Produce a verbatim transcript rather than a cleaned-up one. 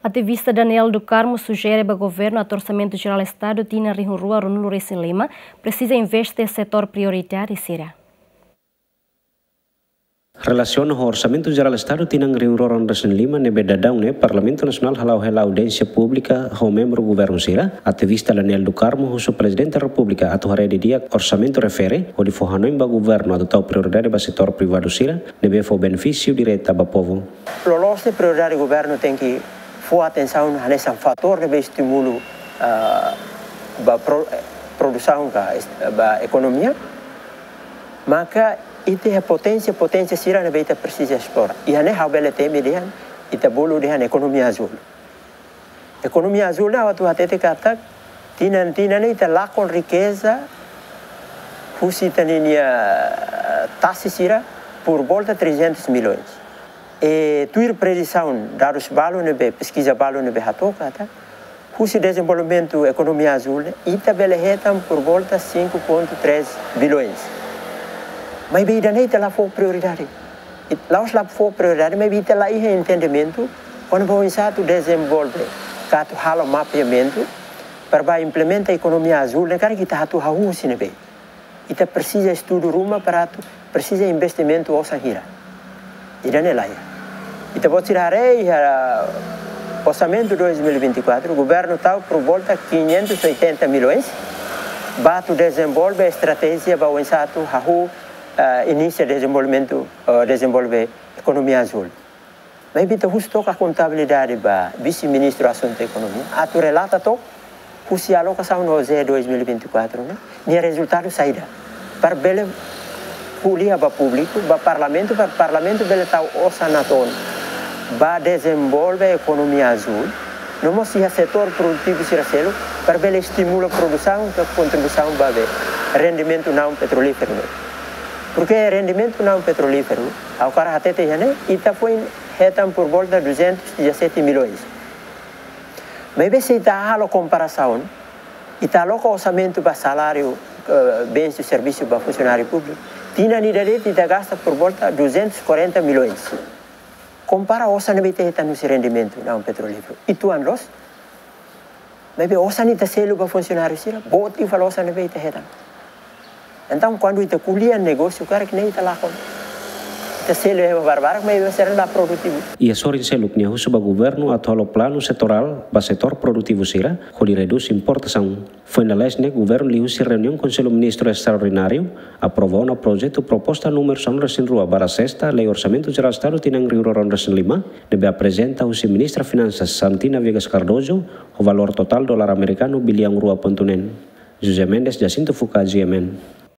Ativista Daniel do Carmo sujere ba governu atu Orsamentu Jerál Estadu tinan rihun rua ruanulu resin lima presiza investe setór prioridade sira. Relasiona ho Orsamentu Jerál Estadu tinan rihun rua ruanulu resin lima ne'ebé daudaun ne'e Parlamentu Nasionál hala'o hela audiénsia públika ho membru governu sira, ativista Daniel do Carmo husu Prezidente Repúblika atu haree didi'ak orsamentu refere, hodi fó hanoin ba governu atu tau prioridade ba setór privadu sira ne'ebé fó benefísiu direta ba povu. Loloos ne'e prioridade governu tenke fó atensaun hanesan fatór ne'ebé estimula, ah, ba pro-, eh, produsaun ka est-, ba ekonomia. Maka ita iha poténsia, poténsia sira ne'ebé ita presiza esplora. Iha ne'e ha'u bele temi dehan, ita bolu dehan ekonomia azúl. Ekonomia azúl ne'e atu hatete katak, tinan-tinan ne'e ita lakon riqueza husi ita-nia tasi sira por volta trezentos milhões. E tuir predisaun, dadus balu ne'ebé, peskiza balu ne'ebé hato'o katak, husi dezenvolvimentu ekonomia azúl ne'e, ita bele hetan por volta cinco ponto três bilhões. Maibé ida-ne'e ita la fó prioridade. It-, la'ós la fó prioridade, maibé ita la iha entendimentu kona-ba oinsá atu dezenvolve, ka atu halo mapeamentu, para bá implementa ekonomia azúl ne'e, karik ita atu hahú husi ne'ebé. Ita presiza estudu ruma para atu, presiza investimentu osan hira. Ida-ne'e la iha. Ita-boot sira haree iha Orsamentu dois mil e vinte e quatro, governu tau por volta quinhentos e oitenta milhões, ba atu dezenvolve estratéjia ba oinsá atu hahú, eh, inisia dezenvolvimentu, eh, dezenvolve ekonomia azúl. Maibé ita husu took kontabilidade ba Vise-Ministru Asuntu Ekonomia, atu relata took husi alokasaun OJE dois mil e vinte e quatro ne'e, nia rezultadu saida. Para bele ko'alia ba públiku, ba Parlamentu, para Parlamentu bele tau osan natoon ba dezenvolve ekonomia azúl, no mós iha setór produtivu sira seluk, para bele estimula produsaun ka kontribuisaun ba be rendimentu naun petrolíferu ne'e. Porke rendimentu naun petrolíferu, ha'u hakarak hatete iha ne'e, ita foin hetan por volta duzentos e dezassete milhões. Maibé se ita halo komparasaun, ita aloka orsamentu ba saláriu, eh, bens e servisu ba funsionáriu públiku, tinan ida de'it ita gasta por volta duzentos e quarenta milhões. Kompara osan ne'ebé ita hetan husi rendimentu naun petrolíferu. Ituan loos. Maibé osan ita selu ba funsionáriu sira, boot liu fali osan ne'ebé ita hetan. Entaun, kuandu ita ko'alia negósiu, karik ne'e ita lakon. Ita selu iha barbarak, maibé sira la produtivu. Iha sorin seluk nia husu ba governu atu halo planu setorál ba setór produtivu sira, hodi redús importasaun. Foin lalais ne'e, governu liuhusi reuniaun Konsellu Ministru Estraordináriu aprova ona projetu proposta númeru sanulu resin rua barra sesta Lei Orsamentu Jerál Estadu tinan rihun rua ruanulu resin lima, ne'ebé aprezenta husi Ministra Finansas Santina Viegas Cardoso, ho valór totál dolar amerikanu biliaun rua pontu neen. José Mendes, Jacinto Fuca, GMN.